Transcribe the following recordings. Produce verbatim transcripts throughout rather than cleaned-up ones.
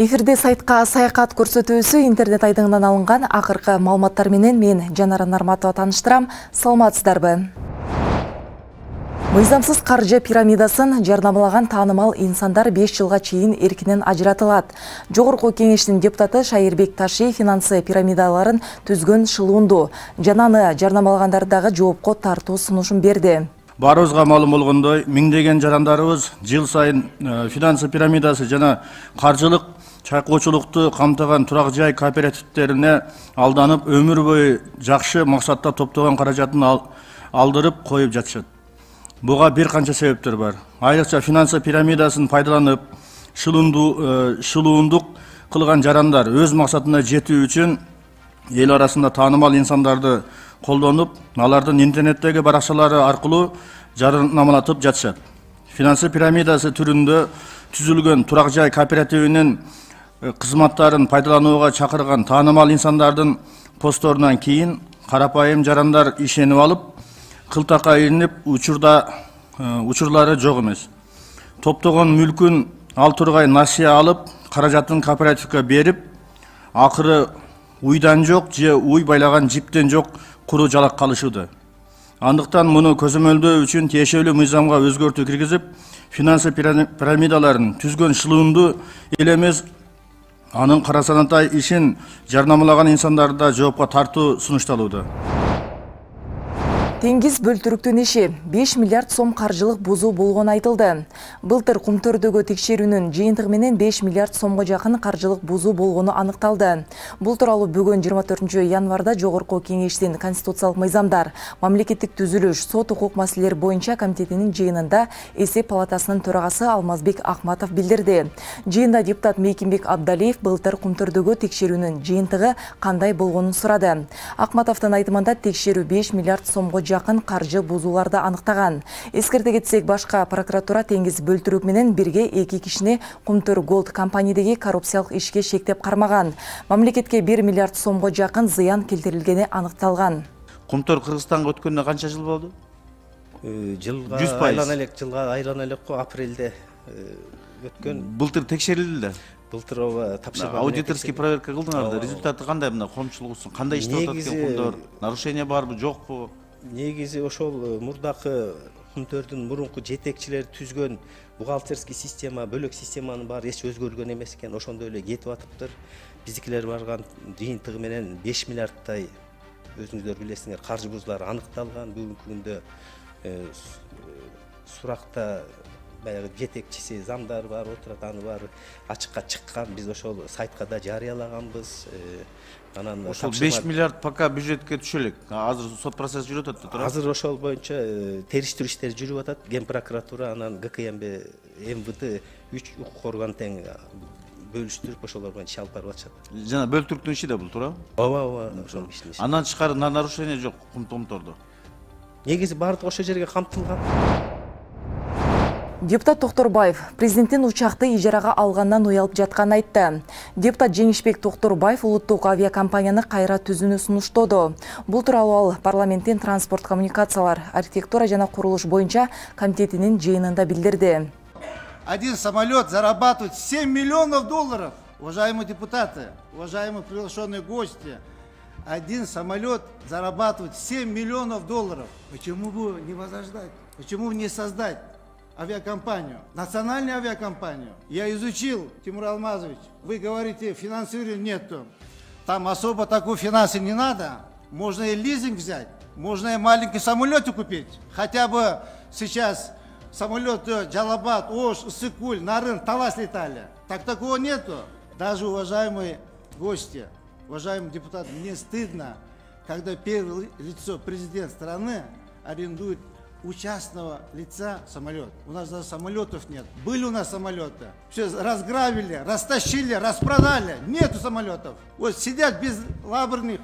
Эфирде сайтка саякат көрсөтүүсү интернет айдыңынан алынган акыркы маалыматтар менен мен Жанара Нарматова тааныштырам. Саламатсыздарбы? Мыйзамсыз каржы пирамидасын жарнамалаган таанымал инсандар беш жылга чейин эркинен ажыратылат. Жогорку кеңештин депутаты Шайырбек Ташиев финансы пирамидаларын түзгөн шылуунду жана аны жарнамалагандар дагы жоопко тартуу сунушун берди. Барыбызга маалым болгондой, миңдеген жарандарыбыз жыл сайын финансы пирамидасы жана каржылык чайкоочулукту камтыган турак жай кооперативтерине алданып, өмүр бою жакшы максатта топтогон каражатын алдырып коюп жатышат. Буга бир канча себептер бар. Айрыкча финансы пирамидасын пайдаланып, шылуундук кылган жарандар өз максатына жетүү үчүн эл арасында таанымал инсандарды колдонуп, алардын интернеттеги баракчалары аркылуу жарнамалатып жатышат. Финансы пирамидасы түрүндө түзүлгөн турак жай кооперативинин кызматтарын пайдаланууга чакырган таанымал инсандардын постторунан кийин карапайым жарандар ишенип алып, кылтакка илинип, учурда учурлары жок эмес. Топтогон мүлкүн ал тургай насыя алып, каражатын кооперативге берип, акыры уйдан жок же уй байлаган жиптен жок куру жалак калышууда. Андыктан муну көзөмөлдөө үчүн тиешелүү мыйзамга өзгөртүү киргизип, финансы пирамидаларын түзгөн шылуунду эл эмес, анын кара санатай ишин жарнамалаган инсандарды да жоопко тартуу сунушталууда. Теңиз бөлтүрүктүн иши беш миллиард сом каржылык бузуу болгону айтылды. Былтыр Кумтөрдөгү текшерүүнүн жыйынтыгы менен беш миллиард сомго жакын каржылык бузуу болгону аныкталды. Бул тууралуу бүгүн жыйырма төртүнчү январда Жогорку кеңештин Конституциялык мыйзамдар, мамлекеттик түзүлүш, сот укук маселелери боюнча комитетинин жыйынында эсеп палатасынын төрагасы Алмазбек Акматов билдирди. Жыйында депутат Мейкимбек Абдалиев былтыр Кумтөрдөгү текшерүүнүн жыйынтыгы кандай болгонун сурады. Акматовдун айтымында текшерүү беш миллиард сомго жакын каржы бузууларды аныктаган. Эскерте кетсек, башка прокуратура Теңиз бөлтүрүк менен бирге эки кишини Кумтөр Голд компаниядеги коррупциялык ишке шектеп кармаган. Мамлекетке бир миллиард сомго жакын зыян келтирилгени аныкталган. Кумтөр Кыргызстанга өткөнүнө канча жыл болду? Жылга айлана элек, жылга айлана элек го, апрелде өткөн. Былтыр текшерилди да. Былтыр ооба тапшырма. Аудиторский проверка кылдыңар да. Результаты кандай мына коомчулугусун? Кандай иштеп атат экен Кумтөр? Нарушение барбы, жокпу? Негизи ошол мурдакы Кумтөрдүн мурунку жетекчилери түзгөн бухгалтерский система, бөлөк системанын баары эч өзгөргөн эмес экен. Ошондой эле кетип атыптыр. Биздикилер барган жыйынтыгы менен беш миллиардтай, өзүңүздөр билесиңер, каржы бузуулары аныкталган. Бүгүнкү күндө суракта баягы жетекчиси, замдар бар, отурат, аны баары ачыкка чыккан. Биз ошол сайтка да жарыялаганбыз. Анан ошол беш миллиард пока бюджетке түшө элек. Азыр сот процесси жүрүп атат да, туура? Азыр ошол боюнча териштирүү иштери жүрүп атат. Ген прокуратура, анан ГКМБ, МВД үч укук орган тең бөлүштүрүп ошолор боюнча иш алып барып атышат. Жана бөлтүрүктүн иши да бул, туура? Ооба, ооба, ошол иштин иши. Андан тышкары нарушение жок Кумтордо. Негизи баардык ошол жерге камтылган. Депутат Токторбаев президенттин учакты ижарага алгандан уялып жатканын айтты. Депутат Жеңишбек Токторбаев улуттук авиакомпанияны кайра түзүүнү сунуштоду. Бул тууралуу ал парламенттин транспорт коммуникациялар, архитектура жана курулуш боюнча комитетинин жыйынында билдирди. Один самолет зарабатывает семь миллионов долларов. Уважаемые депутаты, уважаемые приглашенные гости, один самолет зарабатывает семь миллионов долларов. Почему бы не возрождать? Почему бы не создать авиакомпанию, национальную авиакомпанию? Я изучил, Тимур Алмазович, вы говорите, финансирования нету. Там особо такой финансы не надо. Можно и лизинг взять, можно и маленький самолет купить. Хотя бы сейчас самолеты Джалабад, Ош, Иссык-Куль, Нарын, Талас летали. Так такого нету. Даже, уважаемые гости, уважаемые депутаты, мне стыдно, когда первое лицо, президент страны, арендует у частного лица самолет. У нас даже самолетов нет. Были у нас самолеты. Все разграбили, растащили, распродали. Нету самолетов. Вот сидят без лаборных,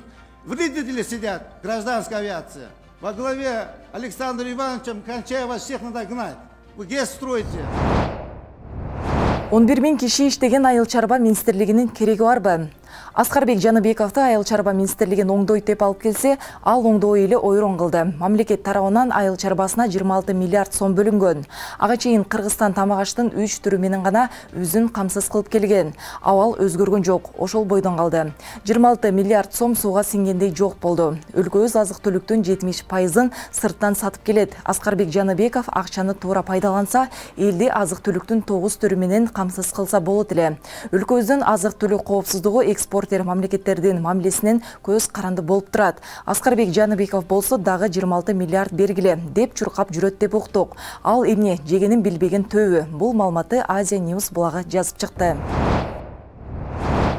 вредители сидят, гражданская авиация. Во главе Александром Ивановичем Кончаева всех надо гнать. Вы ГЭС строите. он бир миң киши иштеген Айыл чарба министрлигинин кереги барбы? Аскарбек Жаныбековду Айыл чарба министрлигин оңдойт деп алып келсе, ал оңдоо эле ойрон кылды. Мамлекет тарабынан айыл чарбасына жыйырма алты миллиард сом бөлүнгөн. Ага чейин Кыргызстан тамак аштын үч түрү менен гана үзүн камсыз кылып келген. Абал өзгөргөн жок, ошол бойдон калды. жыйырма алты миллиард сом сууга сиңгендей жок болду. Өлкөбүз азык-түлүктүн жетимиш пайызын сырттан сатып келет. Аскарбек Жаныбеков акчаны туура пайдаланса, элди азык-түлүктүн тогуз түрү менен камсыз кылса болот эле. Өлкөбүздүн азык-түлүк коопсуздугу экспорт мамлекеттердин мамилесинен көз каранды болуп турат. Аскарбек Жаныбеков болсо дагы жыйырма алты миллиард бергиле деп чуркап жүрөт деп уктук. Ал эмне жегенин билбеген төбү. Бул маалыматты Азия News булагы жазып чыкты.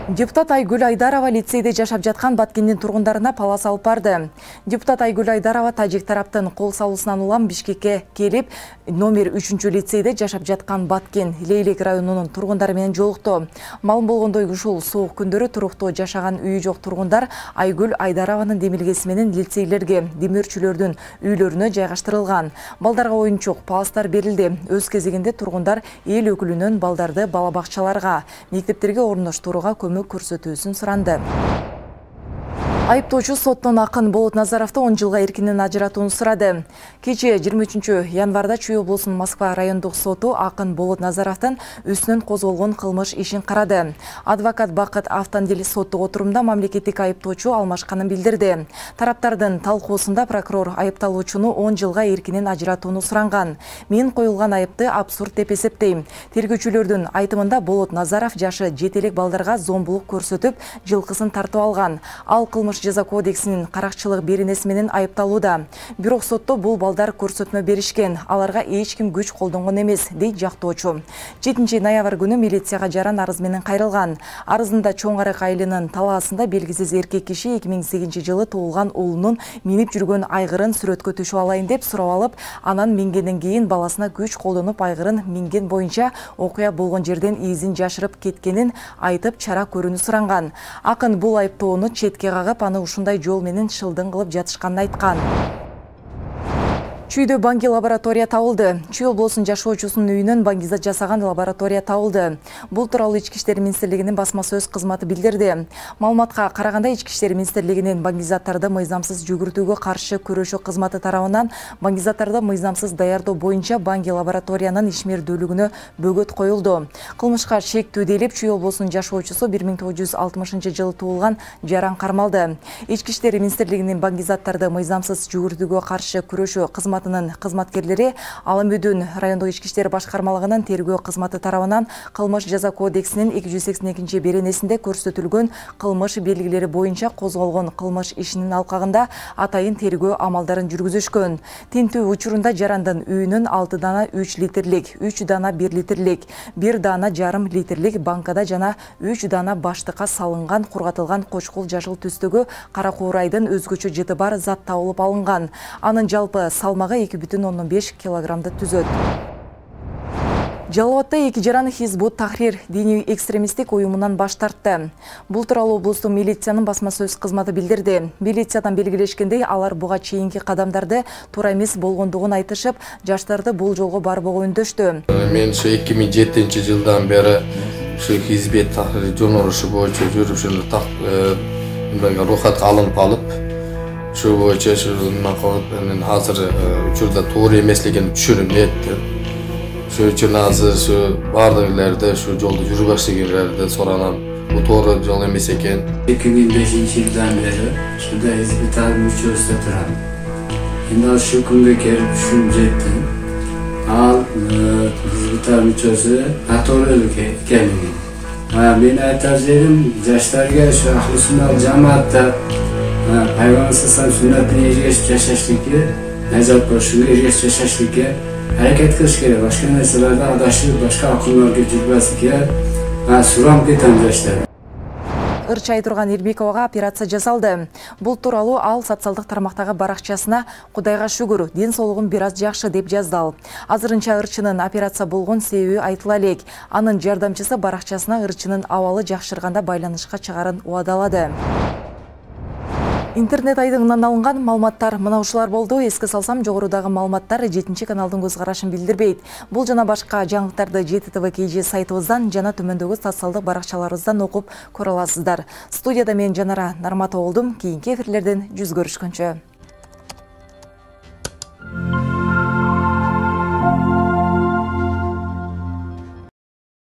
Депутат Айгүл Айдарова лицейде жашап жаткан Баткендин тургундарына пала салып барды. Депутат Айгүл Айдарова тажик тараптын кол салуусунан улам Бишкекке келип, номер үчүнчү лицейде жашап жаткан Баткен Лейлек районунун тургундары менен жолукту. Маалым болгондой, ушул суук күндөрү туруктуу жашаган үйү жок тургундар Айгүл Айдарованын демилгеси менен лицейлерге, демөөрчүлөрдүн үйлөрүнө жайгаштырылган. Балдарга оюнчук, паластар берилди. Өз кезегинде тургундар эл өкүлүнөн балдарды бала бакчаларга, мектептерге орноштурууга көмөк көрсөтүүсүн суранды. Айыптоочу соттон Акын Болот Назаровду он жылга эркинен ажыратууну сурады. Кечээ жыйырма үчүнчү январда Чүй облусунун Москва райондук соту Акын Болот Назаровдун үстүнөн козголгон кылмыш ишин карады. Адвокат Бакыт Автандил соттук отурумда мамлекеттик айыптоочу алмашканын билдирди. Тараптардын талкуусунда прокурор айыпталуучуну он жылга эркинен ажыратууну суранган. Мен коюлган айыпты абсурд деп эсептейм. Тергөөчүлөрдүн айтымында Болот Назаров жашы жете элек балдарга зомбулук көрсөтүп, жылкысын тартып алган. Ал кылмыш жаза кодексинин каракчылык беренеси менен айыпталууда. Бирок сотто бул балдар көрсөтмө беришкен. Аларга эч ким күч колдонгон эмес, дейт жактоочу. жетинчи ноябрь күнү милицияга жаран арыз менен кайрылган. Арызында Чоң Арык айылынын талаасында белгисиз эркек киши эки миң сегизинчи жылы туулган уулунун минип жүргөн айгырын сүрөткө түшүп алайын деп сурап алып, анан мингенден кийин баласына күч колдонуп айгырын минген боюнча окуя болгон жерден изин жашырып кеткенин айтып чара көрүүнү суранган. Акын бул айыптоону четке кагып, аны ушундай жол менен шылдың кылып жатышканын айткан. Чүйдө банги лаборатория табылды. Чүй облусунун жашоочусунун үйүнөн баңгизат жасаган лаборатория табылды. Бул тууралуу Ички иштер министрлигинин басма сөз кызматы билдирди. Маалыматка караганда, Ички иштер министрлигинин баңгизаттарды мыйзамсыз жүгүртүүгө каршы күрөшүү кызматы тарабынан баңгизаттарды мыйзамсыз даярдоо боюнча банги лабораториянын ишмердүүлүгүнө бөгөт коюлду. Кылмышка шектүү делип, Чүй облусунун жашоочусу бир миң тогуз жүз алтымышынчы жылы туулган жаран кармалды. Ички иштер министрлигинин баңгизаттарды мыйзамсыз жүгүртүүгө каршы күрөшүү кызматы кызматкерлери Аламөдүн райондук ички иштер башкармалыгынын тергөө кызматы тарабынан кылмыш жаза кодексинин эки жүз сексен экинчи беренесинде көрсөтүлгөн кылмыш белгилери боюнча козголгон кылмыш ишинин алкагында атайын тергөө амалдарын жүргүзүшкөн. Тинтүү учурунда жарандын үйүнөн алты дана үч литрлик, үч дана бир литрлик, бир дана жарым литрлик банкада жана үч дана баштыкка салынган кургатылган кочкул жашыл түстөгү кара куурайдын өзгөчө жыты бар зат табылып алынган. Анын жалпы салмагы эки бүтүн ондон беш килограммды түзөт. Жалал Абадта эки жаран Хизбут Тахрир диний экстремисттик уюмунан баш тартты. Бул тууралуу облустук милициянын басма сөз кызматы билдирди. Милициядан белгилешкендей, алар буга чейинки кадамдарды туура эмес болгондугун айтышып, жаштарды бул жолго барбоого үндөштү. Мен ушу эки миң жетинчи жылдан бери ушу Хизбут Тахрир жонорушу боюнча жүрүп, ушуну так рухатка алынып алып, şu boyunca şu nakavatların hazır uçurda doğru emesligini düşünümledi. Şu için hazır şu bardaklarda şu yolda yürü başlayanlarda soranan bu doğru yol emes eken. iki bin beşinci yıldan beri şurada Hizbut Tahrir müçösüde turan. Şimdi şu kunga kelip düşünecektim. Al Hizbut Tahrir müçösü doğruluk ekenligini. Men aytardym, yaşlarga şu ahli sunnat jamaatda Peygamber sallallahu sünnetine ergeshib yashashligi, najot bo'lishga ergeshib yashashligi harakat qilish kerak. Boshqa narsalarda adashib, boshqa aqllarga yurmaslikka suram ketam yoshlar. Ырчай турган Элбековага операция жасалды. Бул тууралуу ал социалдык тармактагы баракчасына "Кудайга шүгүр, ден соолугум бир аз жакшы" деп жазды. Азырынча ырчынын операция болгон себеби айтыла элек. Анын жардамчысы баракчасына ырчынын абалы жакшырганда байланышка чыгарын убадалады. Интернет айдыңынан алынган маалыматтар мына ушулар болду. Эске салсам, жогорудагы маалыматтар жетинчи каналдын көз карашын билдирбейт. Бул жана башка жаңылыктарды жети тэ вэ кей же сайтыбыздан жана төмөндөгү социалдык баракчаларыбыздан окуп көрө аласыздар. Студияда мен Жанара Нарматова болдум. Кийинки эфирлерден жүз көрүшкөнчө.